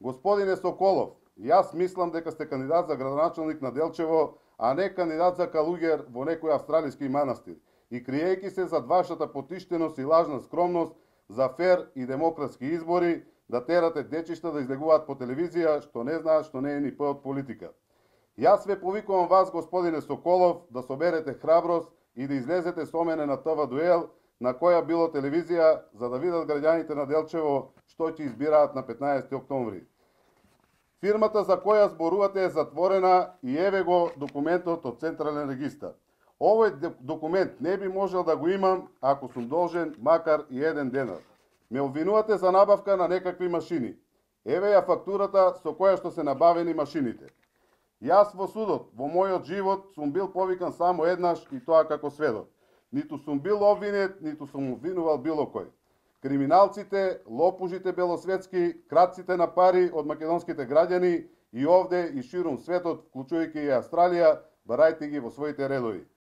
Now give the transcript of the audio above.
Господине Соколов, јас мислам дека сте кандидат за градоначалник на Делчево, а не кандидат за калуѓер во некој австралиски манастир. И криејќи се зад вашата потиштеност и лажна скромност за фер и демократски избори, да терате дечишта да излегуваат по телевизија, што не знаат што не е ни п од политика. Јас ве повикувам вас, господине Соколов, да соберете храброст и да излезете со мене на ТВ дуел, на која било телевизија, за да видат граѓаните на Делчево што ќе избираат на 15 октомври. Фирмата за која зборувате е затворена и еве го документот од Централен регистар. Овој документ не би можел да го имам ако сум должен макар и 1 денар. Ме обвинувате за набавка на некакви машини. Еве ја фактурата со која што се набавени машините. Јас во судот, во мојот живот, сум бил повикан само еднаш и тоа како сведок. Ниту сум бил обвинет, ниту сум обвинувал било кој. Криминалците, лопужите белосветски, кратците на пари од македонските граѓани и овде и ширум светот, вклучувајќи и Австралија, барајте ги во своите редови.